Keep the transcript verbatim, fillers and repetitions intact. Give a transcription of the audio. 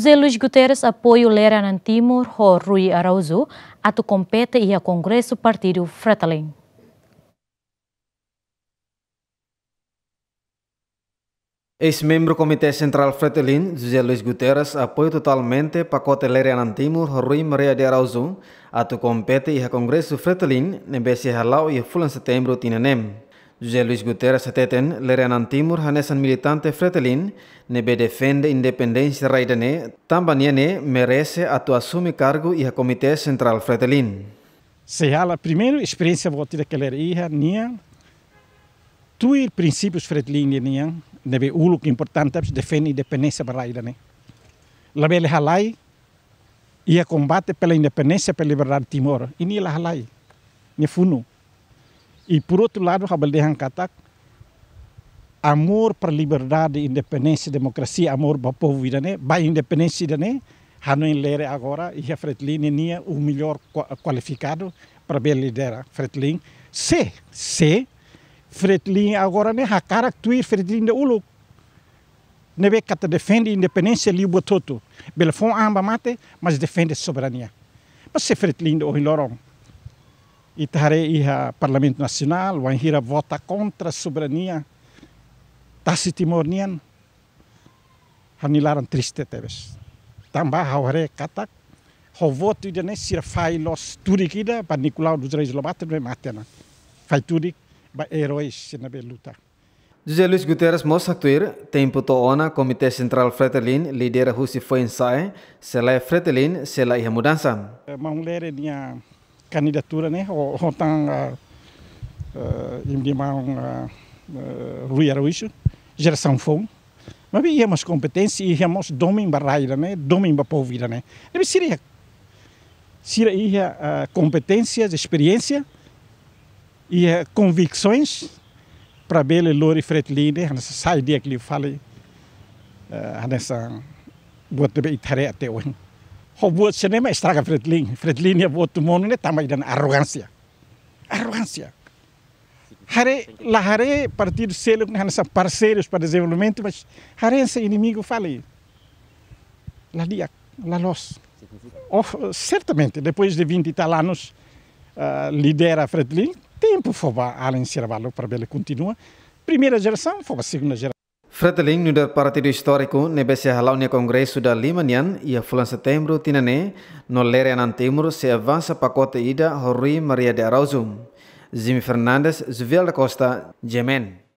José Luis Guterres apoiu Lere Anan Timur ho Rui Araújo atu kompete iha Kongresu Partidu Fretilin. Eis-membru Komité Sentrál Fretilin, José Luis Guterres, apoiu totalmente pakote Lere Anan Timur ho Rui Maria de Araújo atu kompete iha Kongresu Fretilin ne'ebé sei hala'o iha fulan Setembru tinan ne'e. José Luis Guterres hateten Lere Anan Timur hanesan militante Fretilin ne'ebé defende independénsia rai ida-ne'e, tanba nia ne'e merese atu asume kargu iha Komité Sentrál Fretilin. Sei hala'o primeiru esperiénsia boot ida ke Lere iha nian, tuir prinsípius Fretilin nian, ne'ebé uluk importante, defende independénsia ba rai ida-ne'e. Labele halai iha kombate pela independénsia, pela liberdade Timor. I nia la halai. Nia funu. I por outro lado, ha'u bele dehan katak, amor para liberdade, independénsia, demokrasia, amor ba povu ida-ne'e, ba independénsia ida-ne'e, hanoin Lere agora iha Fretilin nian o melhor kua-, kualifikadu para bele lidera Fretilin. Se, se Fretilin agora ne'e hakarak tuir Fretilin ida uluk, ne'ebé katak defende independénsia liu buat hotu. Bele fó an ba mate, mas defende soberania. Mas se Fretilin ida ohin loron ita haree iha Parlamentu Nasionál, wainhira vota kontra soberania tasi Timor nian, ha'u-nia laran triste tebes. Tanba ha'u haree katak, ho votu ida-ne'e sira fahe loos tudik ida ba Nicolau dos Reis Lobato ne'ebé mate ona. Fahe tudik ba eróis sira ne'ebé luta. José Luis Guterres mós haktuir, tempu to'o ona Komité Sentrál Fretilin lidera husi foin-sa'e, se lae Fretilin sei la iha mudansa. Eh, maun Lere nia kandidatura ne'e, ho, ho tan, ah, eh, imi-nia maun, ah, eh, Rui Araújo, jerasaun foun. Maibé iha mós kompeténsia, iha mós domin ba rai ida-ne'e, domin ba povu ida-ne'e. Ne'ebé sira iha, sira iha, ah, kompeténsia, esperiénsia, iha konviksoens para bele lori Fretilin ne'e, hanesan sai di'ak liu fali, eh, hanesan buat ne'ebé ita haree até ohin. Ho buat sira-ne'e mak estraga Fretilin. Fretilin nia votu monu ne'e tanba ida-ne'e arrogánsia. Arrogánsia. Haree, la haree partidu seluk ne'e hanesan parseirus para dezenvolvimentu, mas haree hanesan inimigu fali. La di'ak, la loos. Oh, certamente, depois de vinte e tal anos, ah, lidera Fretilin, tempu fó ba alin sira balu para bele kontinua. Primeira jerasaun, fó ba segunda jerasaun. Fretilin nu'udar partidu istóriku ne'ebé sei hala'o nia kongresu ida lima nian iha fulan Setembru tinan ne'e, no Lere Anan Timur sei avansa pakote ida ho Rui Maria de Araújo. Jimmy Fernandes, Juvial da Costa, G M N.